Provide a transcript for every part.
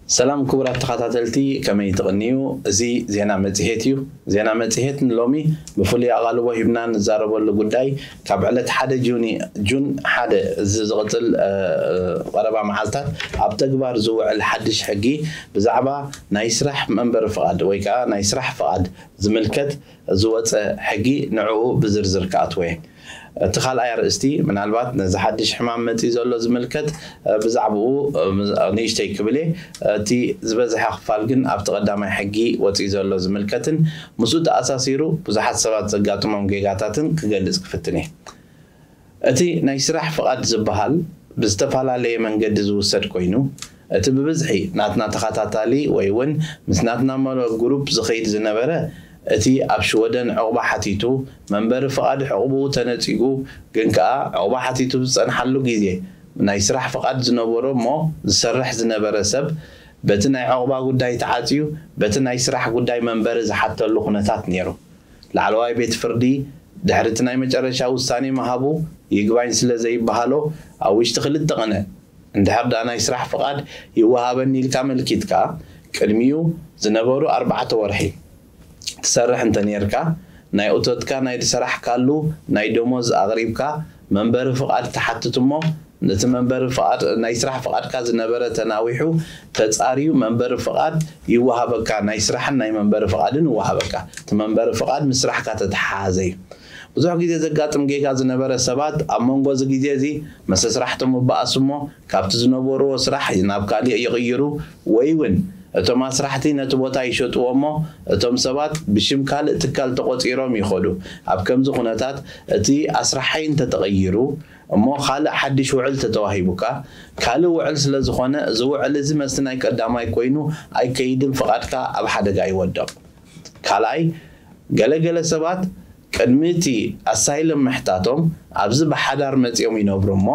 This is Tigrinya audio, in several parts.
ሰላም ክቡራት ተኸታተልቲ፣ ከመይ ትቕንዩ? እዚ ዜና መጽሔት እዩ። ዜና መጽሔት ንሎሚ ብፍሉይ ኣቓልቦ ሂብና ንዛረበሉ ጉዳይ፣ ካብ ዕለት ሓደ ጁኒ፣ ጁን ሓደ፣ እዚ ዝቕጽል፣ እ፣ እ፣ ቀረባ መዓልታት ኣብ ተግባር ዝውዕል ሓድሽ ሕጊ ብዛዕባ ናይ ስራሕ መንበሪ ፍቓድ ወይ ከኣ ናይ ስራሕ ፍቓድ ዝምልከት ዝወጸ ሕጊ፣ ንዕኡ ብዝርዝር ክኣትወ እየ። እቲ ካልኣይ ኣርእስቲ፣ ምናልባት ነዚ ሓድሽ ሕማም መጺኡ ዘሎ ዝምልከት፣ እ፣ ብዛዕባኡ፣ እ፣ ንእሽተይ ክብል እየ። እቲ ዝበዝሐ ክፋል ግን ኣብቲ ቀዳማይ ሕጊ ወጺኡ ዘሎ ዝምልከትን ምስኡ ተኣሳሲሩ ብዙሓት ሰባት ዘጋጥሞም ጌጋታትን ክገልጽ ክፍትን እየ። እቲ ናይ ስራሕ ፍቓድ ዝበሃል ብዝተፈላለየ መንገዲ ዝውሰድ ኮይኑ፣ እቲ ብብዝሒ ናትና ተኸታታሊ ወይ እውን ምስ ናትና መሎ ግሩፕ ዝኸይድ ዝነበረ፣ እቲ ኣብ ሽወደን ዕቑባ ሓቲቱ መንበሪ ፍቓድ ዕቑብኡ ተነጺጉ፣ ግን ከኣ ዕቑባ ሓቲቱ ዝጸንሓሉ ግዜ ናይ ስራሕ ፍቓድ ዝነበሮ እሞ ዝሰርሕ ዝነበረ ሰብ፣ በቲ ናይ ዕቑባ ጉዳይ ተዓጽዩ፣ በቲ ናይ ስራሕ ጉዳይ መንበሪ ዝሓተሉ ኩነታት ነይሩ። ላዕለዋይ ቤት ፍርዲ ድሕሪ እቲ ናይ መጨረሻ ውሳኔ ምሃቡ፣ ይግባኝ ስለ ዘይበሃሎ፣ ኣብ ውሽጢ ክልተ ቅነ እንድሕር ደኣ ናይ ስራሕ ፍቓድ ይወሃበኒ ኢልካ ኣመልኪትካ፣ ቅድሚኡ ዝነበሩ ኣርባዕተ ወርሒ ትሰርሕ እንተ ኔርካ፣ ናይ እቶትካ ናይ ዝሰራሕካሉ ናይ ደሞዝ ኣቕሪብካ፣ መንበሪ ፍቓድ ትሓትት እሞ፣ ነቲ መንበሪ ፍቓድ፣ ናይ ስራሕ ፍቓድካ ዝነበረ ተናዊሑ ተጻርዩ መንበሪ ፍቓድ ይወሃበካ፣ ናይ ስራሕን ናይ መንበሪ ፍቓድን ይወሃበካ። እቲ መንበሪ ፍቓድ ምስ ስራሕካ ተተሓሓዘ እዩ። ብዙሕ ግዜ ዘጋጥም ጌጋ ዝነበረ፣ ሰባት ኣብ መንጎ እዚ ግዜ እዚ መሰ ስራሕቶም ይበኣሱ እሞ፣ ካብቲ ዝነበርዎ ስራሕ ናብ ካሊእ ይቕይሩ፣ ወይ እውን እቶም ኣስራሕቲ ነቲ ቦታ ይሸጥዎ እሞ፣ እቶም ሰባት ብሽም ካልእ ትካል ተቖጺሮም ይኸዱ። ኣብ ከምዚ ኩነታት፣ እቲ ኣስራሓይ እንተተቐይሩ እሞ፣ ካልእ ሓድሽ ውዕል ተተዋሂቡካ፣ ካልእ ውዕል ስለ ዝኾነ፣ እዚ ውዕል እዚ መስቲ ናይ ቀዳማይ ኮይኑ ኣይከይድን፣ ፍቓድካ ኣብ ሓደጋ ይወድቕ። ካልኣይ፣ ገለገለ ሰባት ቅድሚ እቲ ኣሳይለም ምሕታቶም ኣብዚ ብሓዳር መጺኦም ይነብሩ እሞ፣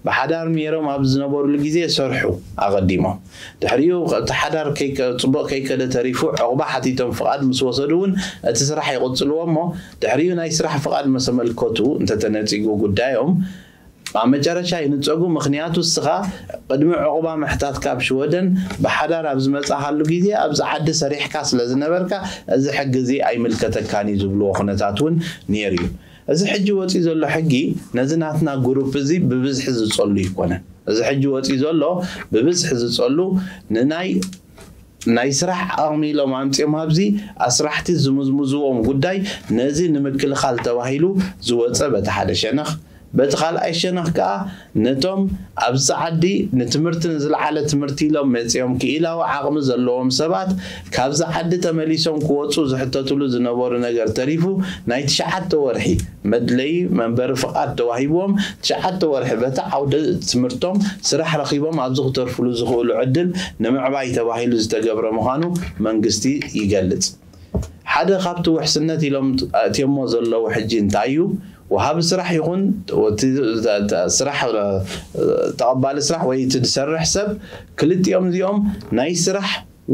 ብሓዳር ነይሮም ኣብ ዝነበሩሉ ግዜ ይሰርሑ ኣቐዲሞም። ድሕሪኡ እቲ ሓዳር ከይከ-፣ ጽቡቕ ከይከደ ተሪፉ፣ ዕቑባ ሓቲቶም ፍቓድ ምስ ወሰዱ እውን እቲ ስራሕ ይቕጽልዎ እሞ፣ ድሕሪኡ ናይ ስራሕ ፍቓድ መሰ መልከቱ እንተተነጺጉ ጉዳዮም፣ ኣብ መጨረሻ ይንጸጉ። ምኽንያቱ እስኻ ቅድሚ ዕቑባ ምሕታት ካብ ሽወደን ብሓዳር ኣብ ዝመጻኻሉ ግዜ ኣብዚ ዓዲ ሰሪሕካ ስለ ዝነበርካ፣ እዚ ሕጊ እዚ ኣይምልከተካን እዩ ዝብልዎ ኩነታት እውን ነይሩ እዩ። እዚ ሕጂ ወጺኡ ዘሎ ሕጊ ነዚ ናትና ግሩፕ እዚ ብብዝሒ ዝጸሉ ኣይኮነን። እዚ ሕጂ ወጺኡ ዘሎ ብብዝሒ ዝጸሉ ንናይ ናይ ስራሕ ዓቕሚ ኢሎም ኣምጺኦም ኣብዚ ኣስራሕቲ ዝምዝምዝዎም ጉዳይ ነዚ ንምክልኻል ተባሂሉ ዝወጸ በቲ ሓደ ሸነኽ፣ በቲ ካልኣይ ሸነኽ ከኣ ነቶም ኣብዚ ዓዲ ንትምህርቲ ንዝለዓለ ትምህርቲ ኢሎም መጺኦም ክኢላዊ ዓቕሚ ዘለዎም ሰባት ካብዚ ዓዲ ተመሊሶም ክወጹ ዝሕተትሉ ዝነበሩ ነገር ተሪፉ ናይ ትሽዓተ ወርሒ መድለዪ መንበሪ ፍቓድ ተዋሂብዎም ትሽዓተ ወርሒ በቲ ዓውደ ትምህርቶም ስራሕ ረኺቦም ኣብዚ ክተርፍሉ ዝኽእሉ ዕድል ንምዕባይ ተባሂሉ ዝተገብረ ምዃኑ መንግስቲ ይገልጽ። ሓደ ካብቲ ውሕስነት ኢሎም ኣእትዮሞ ዘለዉ ሕጂ እንታይ እዩ? ወሃቢ ስራሕ ይኹን እቲ ስራሕ፣ ተቐባሊ ስራሕ ወይ እቲ ዝሰርሕ ሰብ፣ ክልቲኦም እዚኦም ናይ ስራሕ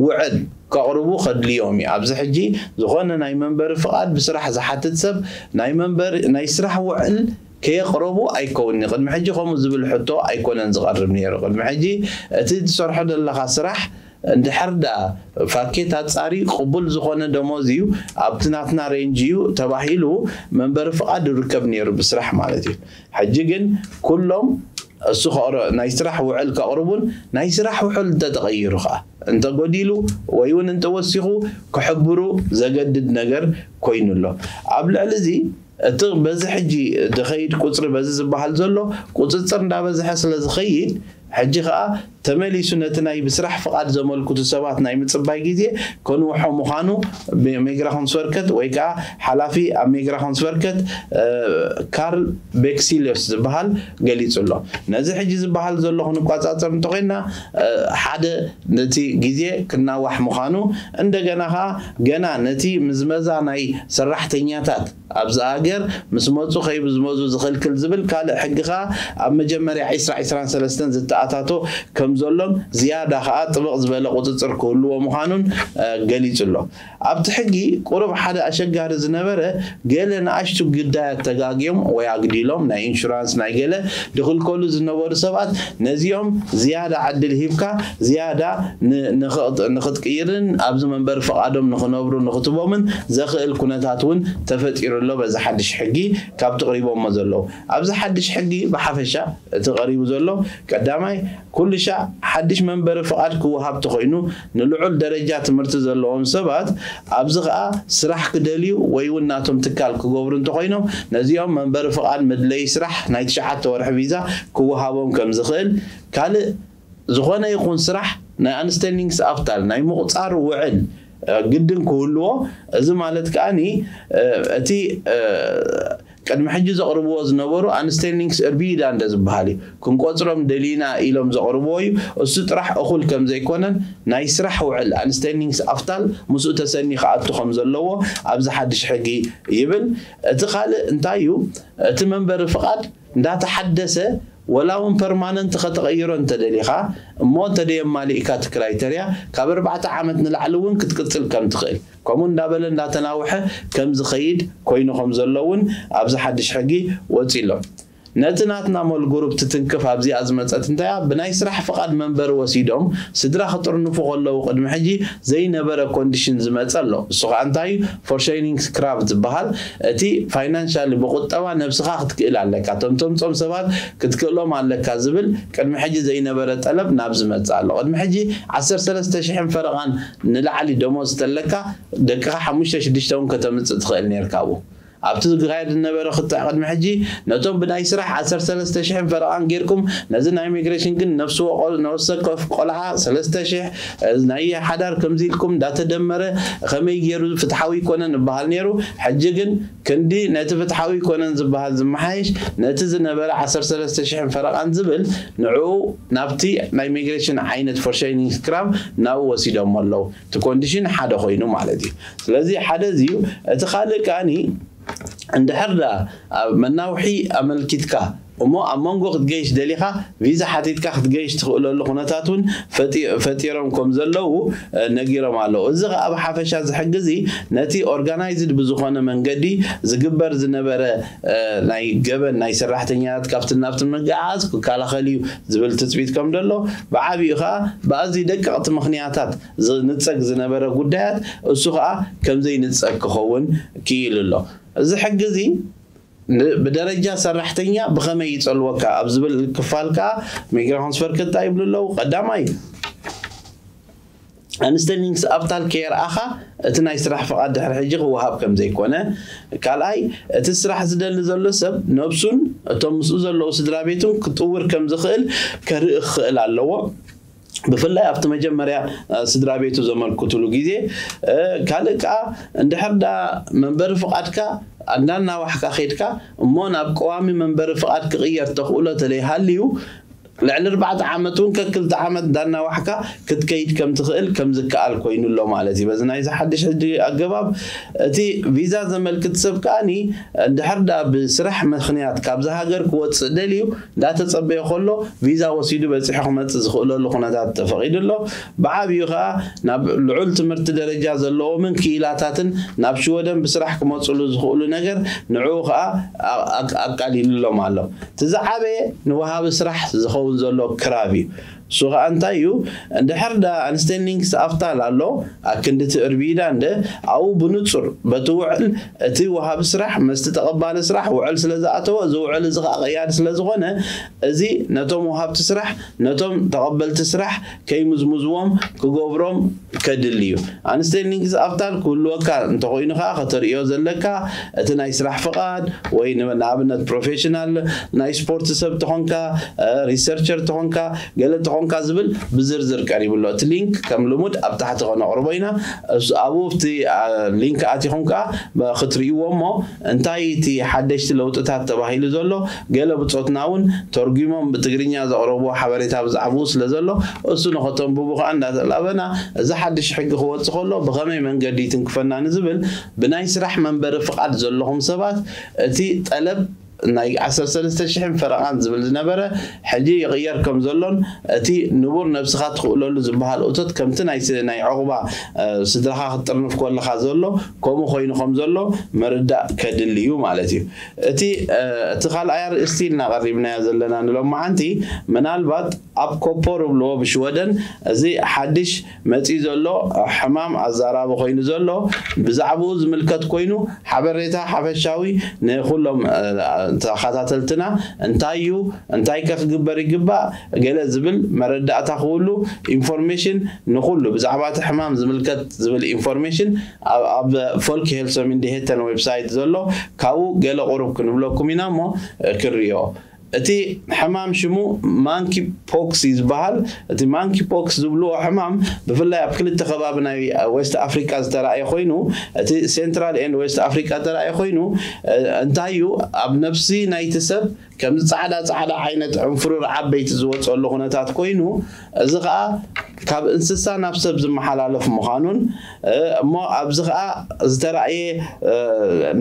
ውዕል ከቕርቡ ከድልዮም እዩ። ኣብዚ ሕጂ ዝኾነ ናይ መንበሪ ፍቓድ ብስራሕ ዝሓትት ሰብ ናይ መንበሪ፣ ናይ ስራሕ ውዕል ከየቕረቡ ኣይከውን። ቅድሚ ሕጂ ከምኡ ዝብል ሕቶ ኣይኮነን ዝቐርብ ነይሩ። ቅድሚ ሕጂ እቲ ትሰርሖ ዘለኻ ስራሕ እንድሕር ደኣ ፋኬት ኣጻሪ ቅቡል ዝኾነ ደሞዝ እዩ፣ ኣብቲ ናትና ሬንጅ እዩ ተባሂሉ መንበሪ ፍቓድ ይርከብ ነይሩ ብስራሕ ማለት እዩ። ሕጂ ግን ኩሎም እሱ ከቕረ-፣ ናይ ስራሕ ውዕል ከቕርቡን ናይ ስራሕ ውዕል እንተተቐይሩ ኸዓ እንተጎዲሉ ወይ እውን እንተወሲኹ ክሕብሩ ዘገድድ ነገር ኮይኑ ኣሎ። ኣብ ልዕሊ እዚ እቲ በዚ ሕጂ ዝኸይድ ቁጽሪ በዚ ዝበሃል ዘሎ ቁጽጽር እንዳበዝሐ ስለ ዝኸይድ ሕጂ ኸዓ ተመሊሱ ነቲ ናይ ብስራሕ ፍቓድ ዘመልክቱ ሰባት ናይ ምጽባይ ግዜ ከንውሖ ምዃኑ ሜግራ ኮንስወርከት ወይ ከኣ ሓላፊ ኣብ ሜግራ ኮንስወርከት፣ እ፣ ካርል ቤክሲልዮስ ዝበሃል ገሊጹ ኣሎ። ነዚ ሕጂ ዝበሃል ዘሎ ክንቋጻጸር እንተኾይንና፣ እ፣ ሓደ ነቲ ግዜ ክናዋሕ ምዃኑ፣ እንደገና ኸኣ ገና ነቲ ምዝመዛ ናይ ሰራሕተኛታት ኣብዚ ሃገር ምስ መጹ ከይብዝመዙ ዝኽልክል ዝብል ካልእ ሕጊ ኸኣ ኣብ መጀመርያ ዒስራ ዒስራን ሰለስተን ዝተኣታቶ ከም ዘሎን ዝያዳ ከዓ ጥብቕ ዝበለ ቁፅፅር ክህልዎ ምዃኑን ገሊፁ ኣሎ። ኣብቲ ሕጊ ቁሩብ ሓደ ኣሸጋሪ ዝነበረ፣ ገለ ንኣሽቱ ግዳያት ተጋግዮም ወይ ኣግዲሎም ናይ ኢንሹራንስ ናይ ገለ ድኽልከሉ ዝነበሩ ሰባት፣ ነዚኦም ዝያዳ ዕድል ሂብካ ዝያዳ ንክትቅይርን ኣብዚ መንበሪ ፍቓዶም ንክነብሩ ንክትቦምን ዘኽእል ኩነታት እውን ተፈጢሩ ኣሎ። በዚ ሓድሽ ሕጊ ካብቲ ቅሪቦሞ ዘለዉ ኣብዚ ሓድሽ ሕጊ ብሓፈሻ እቲ ቀሪቡ ዘሎ ቀዳማይ ኩሉ ሻዕ ሓድሽ መንበሪ ፍቓድ ክወሃብ ተኾይኑ ንልዑል ደረጃ ትምህርቲ ዘለዎም ሰባት ኣብዚ ኸኣ ስራሕ ክደልዩ ወይ እውን ናቶም ትካል ክገብሩ እንተኾይኖም ነዚኦም መንበሪ ፍቓድ መድለይ ስራሕ ናይ ትሽዓተ ወርሒ ቪዛ ክወሃቦም ከም ዝኽእል ካልእ ዝኾነ ይኹን ስራሕ ናይ ኣንስቴሊንግስ ኣፍታል ናይ ምቑፃር ውዕል ግድን ክህልዎ እዚ ማለት ከኣኒ እቲ ቅድሚ ሕጂ ዘቕርብዎ ዝነበሩ ኣንስቴሊንግስ እርቢዳ እንደ ዝበሃል እዩ። ክንቆፅሮም ደሊና ኢሎም ዘቕርብዎ እዩ። እሱ ጥራሕ እኹል ከም ዘይኮነን ናይ ስራሕ ውዕል ኣንስቴሊንግስ ኣፍታል ምስኡ ተሰኒ ክኣቱ ከም ዘለዎ ኣብዚ ሓድሽ ሕጊ ይብል። እቲ ካልእ እንታይ እዩ? እቲ መንበሪ ፍቓድ እንዳተሓደሰ ወላ እውን ፐርማነንት ከተቐይሮ እንተደሊኻ እሞ እንተደየማሊእካ እቲ ክራይተርያ ካብ ኣርባዕተ ዓመት ንላዕሊ እውን ክትቅፅል ከም ትኽእል ከምኡ እንዳበለ እንዳተናውሐ ከም ዝኸይድ ኮይኑ ከም ዘሎ እውን ኣብዚ ሓድሽ ሕጊ ወፂ ኣሎ። ነቲ ናትና ሞል ግሩፕ ትትንክፍ ኣብዚኣ ዝመፀት እንታያ ብናይ ስራሕ ፍቓድ መንበሪ ወሲዶም ስድራ ክጥርንፉ ከለዉ ቅድሚ ሕጂ ዘይነበረ ኮንዲሽን ዝመፀ ኣሎ። እሱ ከዓ እንታይ እዩ? ፎርሸይኒንግ ክራብ ዝበሃል እቲ ፋይናንሻሊ ብቁጠባ ነብስኻ ክትክእል ኣለካ፣ እቶም ተምፅኦም ሰባት ክትክእሎም ኣለካ ዝብል ቅድሚ ሕጂ ዘይነበረ ጠለብ ናብ ዝመፅእ ኣሎ። ቅድሚ ሕጂ ዓሰርተ ሰለስተ ሽሕን ፈረቓን ንላዕሊ ደሞዝ ተለካ ደቅኻ ሓሙሽተ ሽዱሽተ እውን ከተምፅእ ትኽእል ነርካ ኣብኡ ኣብቲ ዝካየድ ዝነበረ ክትዕ ቅድሚ ሕጂ ነቶም ብናይ ስራሕ ዓሰርተ ሰለስተ ሽሕን ፈረቓን ጌርኩም ነዚ ናይ ኢሚግሬሽን ግን ነፍሲ ወቆ- ነፍሲ ወከፍ ቆልዓ ሰለስተ ሽሕ ናይ ሓዳር ከምዚ ኢልኩም እንዳተደመረ ከመይ ገይሩ ፍትሓዊ ይኮነን ይበሃል ነይሩ። ሕጂ ግን ክንዲ ነቲ ፍትሓዊ ይኮነን ዝበሃል ዝመሓየሽ ነቲ ዝነበረ ዓሰርተ ሰለስተ ሽሕን ፈረቓን ዝብል ንዕኡ ናብቲ ናይ ኢሚግሬሽን ዓይነት ፎርሸይኒንግ ክራም ናብኡ ወሲዶሞ ኣለዉ። እቲ ኮንዲሽን ሓደ ኮይኑ ማለት እዩ። ስለዚ ሓደ እዚ እዩ። እቲ ካልእ ከኣኒ እንድሕር ዳ ኣብ መናውሒ ኣመልኪትካ እሞ ኣብ መንጎ ክትገይሽ ደሊኻ ቪዛ ሓቲትካ ክትገይሽ ትኽእለሉ ኩነታት እውን ፈጢ- ፈጢሮም ከም ዘለዉ እ፣ ነጊሮም ኣለዉ። እዚ ኸዓ ብሓፈሻ እዚ ሕጊ እዚ ነቲ ኦርጋናይዝድ ብዝኾነ መንገዲ ዝግበር ዝነበረ እ፣ ናይ ገበን ናይ ሰራሕተኛታት ካብቲ ናብቲ ምግዓዝ ክከላኸል እዩ ዝብል ትፅቢት ከም ደሎ ብዓብዩ ኸዓ ብኣዝዩ ደቀቕቲ ምኽንያታት ዝንፀግ ዝነበረ ጉዳያት እሱ ኸዓ ከም ዘይንፀግ ክኸውን ክኢሉ ኣሎ። እዚ ሕጊ እዚ ን- ብደረጃ ሰራሕተኛ ብኸመይ ይጸልወካ ኣብ ዝብል ክፋል ከኣ ሚግራሆንስ ፈርክታ ይብሉ ኣለዉ። ቀዳማይ ኣንስተሊንግስ ኣብታል ከየርኣኻ እቲ ናይ ስራሕ ፍቓድ ድሕሪ ሕጂ ክወሃብ ከም ዘይኮነ፣ ካልኣይ እቲ ስራሕ ዝደሊ ዘሎ ሰብ ነብሱን እቶም ምስኡ ዘለዉ ስድራ ቤቱን ክጥውር ከም ዝኽእል ከርኢ ክኽእል ኣለዎ። ብፍላይ ኣብቲ መጀመርያ ስድራ ቤቱ ዘመልክትሉ ግዜ ካልእ ከዓ እንድሕር ዳ መንበሪ ፍቓድካ እንዳናዋሕካ ከይድካ እሞ ናብ ቀዋሚ መንበሪ ፍቓድ ክቕየር ተኽእሎ ተለይሃልዩ ልዕሊ ኣርባዕተ ዓመት እውን ከክልተ ዓመት እንዳናዋሕካ ክትከይድ ከም ትኽእል ከም ዝከኣል ኮይኑ ኣሎ ማለት እዩ። በዚ ናይዚ ሓድሽ ሕጂ ኣገባብ እቲ ቪዛ ዘመልክት ሰብ ከኣኒ እንድሕር ዳ ብስራሕ ምኽንያት ካብዚ ሃገር ክወፅእ ደልዩ እንዳተፀበየ ከሎ ቪዛ ወሲዱ በፂሑ ክመፅእ ዝኽእለሉ ኩነታት ተፈቒዱ ኣሎ። ብዓብዩ ከዓ ናብ ልዑል ትምህርቲ ደረጃ ዘለዎምን ክኢላታትን ናብ ሽወደን ብስራሕ ክመፅሉ ዝኽእሉ ነገር ንዕኡ ከዓ ኣቃሊሉሎም ኣሎ። እቲ ዝዓበየ ንወሃቢ ስራሕ ዝኸውን ዘሎ ክራብ እዩ። እሱ ከዓ እንታይ እዩ? እንድሕር ዳ ኣንስቴንዲንግስ ኣፍታል ኣሎ ኣክንድቲ እርቢዳ እንደ ኣብኡ ብንፁር በቲ ውዕል እቲ ወሃቢ ስራሕ መስቲ ተቐባሊ ስራሕ ውዕል ስለ ዝኣተወ እዚ ውዕል እዚ ከዓ ቀያዲ ስለ ዝኾነ እዚ ነቶም ወሃብቲ ስራሕ ነቶም ተቐበልቲ ስራሕ ከይምዝምዝዎም ክገብሮም ከድሊ እዩ። ኣንስቴንዲንግስ ኣፍታል ክህልወካ እንተኮይኑ ከዓ ከተርእዮ ዘለካ እቲ ናይ ስራሕ ፍቓድ ወይ ንኣብነት ፕሮፌሽናል ናይ ስፖርት ሰብ ተኾንካ ሪሰርቸር ተኾንካ ገለ ተኾንካ ዝብል ብዝርዝር ቀሪቡ ኣሎ። እቲ ሊንክ ከም ልሙድ ኣብ ታሕቲ ከነቕርቦ ኢና። ኣብኡ ኣብቲ ሊንክ ኣቲኹም ከዓ ክትርእይዎ እሞ እንታይ እቲ ሓደሽቲ ለውጥታት ተባሂሉ ዘሎ ገለ ብፆትና እውን ተርጉሞም ብትግርኛ ዘቕረብዎ ሓበሬታ ብዛዕባኡ ስለ ዘሎ እሱ ንኸተንብቡ ከዓ እንዳተላበና እዚ ሓድሽ ሕጊ ክወፅእ ከሎ ብኸመይ መንገዲ ይትንክፈና ንዝብል ብናይ ስራሕ መንበሪ ፍቓድ ዘለኹም ሰባት እቲ ጠለብ ናይ ዓሰርተ ሰለስተ ሽሕን ፈረቓን ዝብል ዝነበረ ሕጂ ይቕየር ከም ዘሎን እቲ ንቡር ነብስኻ ትኽእለሉ ዝበሃል እቶት ከምቲ ናይ ስ- ናይ ዕቑባ እ፣ ስድራኻ ክትጥርንፍ ከለኻ ዘሎ ከምኡ ኮይኑ ከም ዘሎ ምርዳእ ከድሊ እዩ ማለት እዩ። እቲ እ፣ እቲ ካልኣይ ኣርእስቲ ኢልና ቀሪብናዮ ዘለና ንሎማዓንቲ ምናልባት ኣብ ኮፖ ርብልዎ ብሽወደን እዚ ሓድሽ መፂኡ ዘሎ ሕማም ኣዛራቢ ኮይኑ ዘሎ ብዛዕባኡ ዝምልከት ኮይኑ ሓበሬታ ሓፈሻዊ ንኩሎም እ፣ ተኸታተልትና እንታይ እዩ እንታይ ከ ክግበር ይግባእ ገለ ዝብል መረዳእታ ክህሉ ኢንፎርሜሽን ንኩሉ ብዛዕባ እቲ ሕማም ዝምልከት ዝብል ኢንፎርሜሽን ኣብ ፎልክ ሄልሶ ሚንዲሄተን ዌብሳይት ዘሎ ካብኡ ገለ ቁሩብ ክንብለኩም ኢና እሞ እ፣ ክርዮ እቲ ሕማም ሽሙ ማንኪ ፖክስ እዩ ዝበሃል። እቲ ማንኪ ፖክስ ዝብልዎ ሕማም ብፍላይ ኣብ ክልተ ከባቢ ናይ ዌስት ኣፍሪካ ዝተረኣየ ኮይኑ እቲ ሴንትራል ኤንድ ዌስት ኣፍሪካ ዝተረኣየ ኮይኑ እ፣ እንታይ እዩ ኣብ ነብሲ ናይቲ ሰብ ከምዚ ፃዕዳ ፃዕዳ ዓይነት ዕንፍሩር ዓበይቲ ዝወፀሉ ኩነታት ኮይኑ እዚ ከዓ ካብ እንስሳ ናብ ሰብ ዝመሓላለፍ ምዃኑን እ፣ እሞ ኣብዚ ከዓ ዝተረኣየ እ፣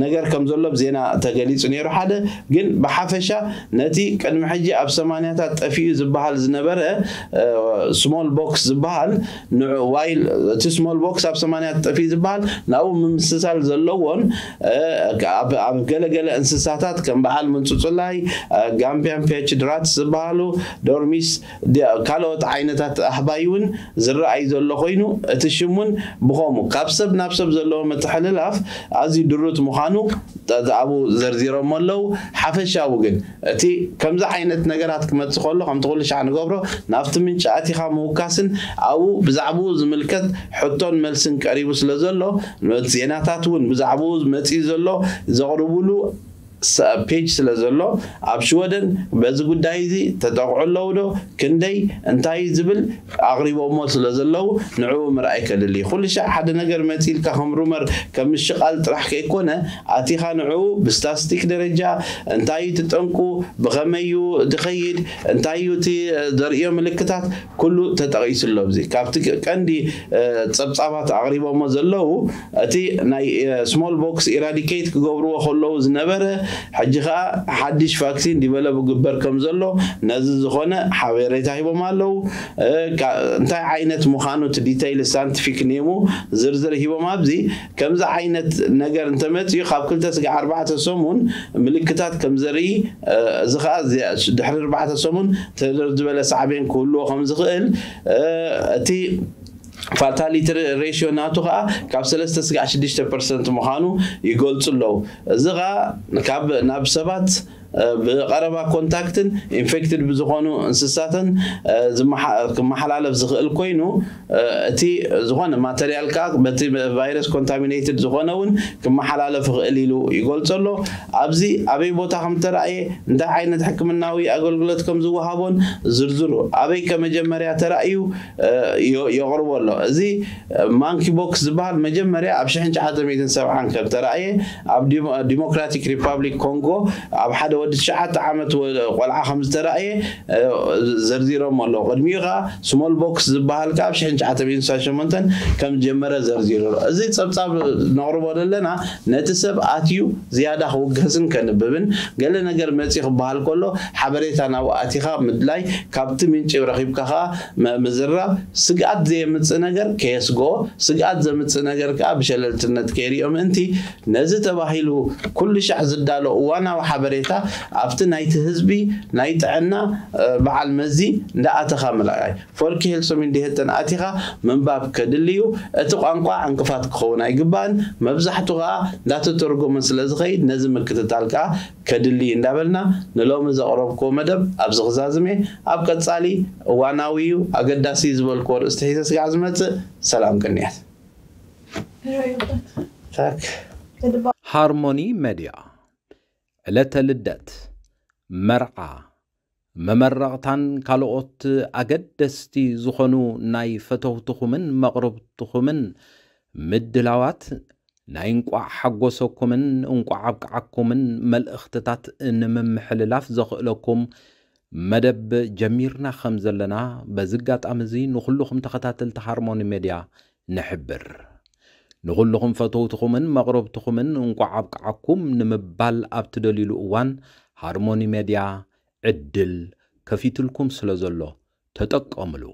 ነገር ከም ዘሎ ብዜና ተገሊፁ ነይሩ ሓደ ግን ብሓፈሻ ነቲ ቅድሚ ሕጂ ኣብ ሰማንያታት ጠፊኡ ዝበሃል ዝነበረ ስሞል ቦክስ ዝበሃል ንዑ ዋይል እቲ ስሞል ቦክስ ኣብ ሰማንያታት ጠፊኡ ዝበሃል ናብኡ ምምስሳል ዘለዎን እ፣ ኣብ ኣብ ገለገለ እንስሳታት ከም በዓል ምንጹጽላይ እ፣ ጋምቢያን ፔች ድራትስ ዝበሃሉ ዶርሚስ ዲ- ካልኦት ዓይነታት ኣህባይ እውን ዝረኣይ ዘሎ ኮይኑ እቲ ሽም እውን ብኸምኡ ካብ ሰብ ናብ ሰብ ዘለዎ ምትሕልላፍ ኣዝዩ ድሩት ምዃኑ ኣብኡ ዘርዚሮሞ ኣለዉ። ሓፈሻዊ ግን እቲ ከምዚ ዓይነት ነገራት ክመፅእ ከሎ ከምቲ ኩሉ ሻዕ ንገብሮ ናብቲ ምንጪ ኣቲኻ ምውካስን ኣብኡ ብዛዕባኡ ዝምልከት ሕቶን መልስን ቀሪቡ ስለ ዘሎ ዜናታት እውን ብዛዕባኡ መፂኡ ዘሎ ዘቕርቡሉ ፔጅ ስለ ዘሎ ኣብ ሽወደን በዚ ጉዳይ እዚ ተጠቕዑ ኣለዉ ዶ ክንደይ እንታይ ዝብል ኣቕሪቦሞ ስለ ዘለዉ ንዕኡ ምርኣይ ከድሊ ኩሉ ሻዕ ሓደ ነገር መፂልካ ከም ሩመር ከም ምሽቓል ጥራሕ ከይኮነ ኣቲኻ ንዕኡ ብስታስቲክ ደረጃ እንታይ እዩ ትጠንቁ ብኸመይ እዩ ዝኸይድ እንታይ እዩ እቲ ዘርእዮ ምልክታት ኩሉ ተጠቒሱ ኣሎ ኣብዚ ካብቲ ቀንዲ እ፣ ጸብጻባት ኣቕሪቦሞ ዘለዉ እቲ ናይ ስሞል ቦክስ ኢራዲኬት ክገብርዎ ከለዉ ዝነበረ ሕጂ ከዓ ሓድሽ ቫክሲን ዲቨሎፕ ግበር ከም ዘሎ ነዚ ዝኾነ ሓበሬታ ሂቦም ኣለዉ እ፣ ካ- እንታይ ዓይነት ምዃኑ እቲ ዲተይል ሳንቲፊክ ኔሙ ዝርዝር ሂቦም ኣብዚ ከምዚ ዓይነት ነገር እንተመፅኡ ካብ ክልተ ስጋዕ ኣርባዕተ ሰሙን ምልክታት ከም ዘርኢ እ፣ እዚ ከዓ እዚ- ድሕሪ ኣርባዕተ ሰሙን ተደር ዝበለ ሳዕቤን ክህልዎ ከም ዝኽእል እ፣ እቲ ፋታሊቲ ሬሽዮ ናቱ ከዓ ካብ ሰለስተ ስጋዕ ሽዱሽተ ፐርሰንት ምዃኑ ይገልፁ ኣለዉ እዚ ከዓ ካብ ናብ ሰባት እ፣ ብቀረባ ኮንታክትን ኢንፌክትድ ብዝኾኑ እንስሳትን እ፣ ዝመሓ- ክመሓላለፍ ዝኽእል ኮይኑ እ፣ እቲ ዝኾነ ማተርያል ከዓ በቲ ቫይረስ ኮንታሚኔትድ ዝኾነ እውን ክመሓላለፍ ይኽእል ኢሉ ይገልፆ ኣሎ ኣብዚ ኣበይ ቦታ ከም ተረእየ እንታይ ዓይነት ሕክምናዊ ኣገልግሎት ከም ዝወሃቦን ዝርዝሩ ኣበይ ከመጀመርያ ተራእዩ እ፣ ዮ- የቕርቦ ኣሎ እዚ ማንኪ ቦክስ ዝበሃል መጀመርያ ኣብ ሽሕን ትሽዓተ ሚእትን ሰብዓን ከም ተራእየ ኣብ ዲሞ- ዲሞክራቲክ ሪፓብሊክ ኮንጎ ኣብ ሓደ ወዲ ትሽዓተ ዓመት ወ- ቆልዓ ከም ዝተራእየ እ፣ ዘርዚሮም ኣለዉ ቅድሚኡ ከዓ ስሞል ቦክስ ዝበሃል ከዓ ኣብ ሽሕን ትሽዓተ ሚእትን ስሳን ሸሞንተን ከም ጀመረ ዘርዚሩ ኣሎ እዚ ፀብፃብ ነቕርቦ ዘለና ነቲ ሰብ ኣትዩ ዝያዳ ክውገስን ከንብብን ገለ ነገር መፂ ክበሃል ከሎ ሓበሬታ ናብኡ ኣቲኻ ምድላይ ካብቲ ምንጪ ረኺብካ ከዓ መ- ምዝራብ ስግኣት ዘየምፅእ ነገር ከየስግኦ ስግኣት ዘምፅእ ነገር ከዓ ብሸለልትነት ከይሪኦ ምእንቲ ነዚ ተባሂሉ ኩሉ ሻዕ ዝዳሎ እዋናዊ ሓበሬታ ኣብቲ ናይቲ ህዝቢ ናይ ጥዕና እ፣ በዓል መዚ እንዳኣተኻ ምልኣይ ፎልክ ሄልሶም እንዲሄተን ኣቲኻ ምንባብ ከድልዩ እቲ ቋንቋ ዕንቅፋት ክኸውን ኣይግባእን መብዛሕቱ ከዓ እንዳተተርጎመ ስለ ዝኸይድ ነዚ ምክትታል ከዓ ከድሊ እንዳበልና ንሎሚ ዘቕረብክዎ መደብ ኣብዚ ክዛዝሜ ኣብ ቀጻሊ እዋናዊ እዩ ኣገዳሲ ዝበልክዎ ርእስቲ ሒዘ ስጋዕ ዝመጽእ ሰላም ቅንያት ሃርሞኒ መድያ ዕለተ ልደት፣ መርዓ፣ መመረቕታን ካልኦት ኣገደስቲ ዝኾኑ ናይ ፈተውትኹምን መቕርብትኹምን ምድላዋት ናይ እንቋዕ ሓጎሰኩምን እንቋዕ ኣብቅዓኩምን መልእኽትታት ንምምሕልላፍ ዘኽእለኩም መደብ ጀሚርና ከም ዘለና በዚ ኣጋጣሚ እዚ ንኹልኹም ተኸታተልቲ ሃርሞኒ ሜድያ ንሕብር። ንኹልኹም ፈተውትኹምን መቕረብትኹምን እንቋዕ ኣብቅዓኩም ንምባል ኣብ ትደልዩሉ እዋን፣ ሃርሞኒ ሜድያ ዕድል ከፊትልኩም ስለ ዘሎ ተጠቀምሉ።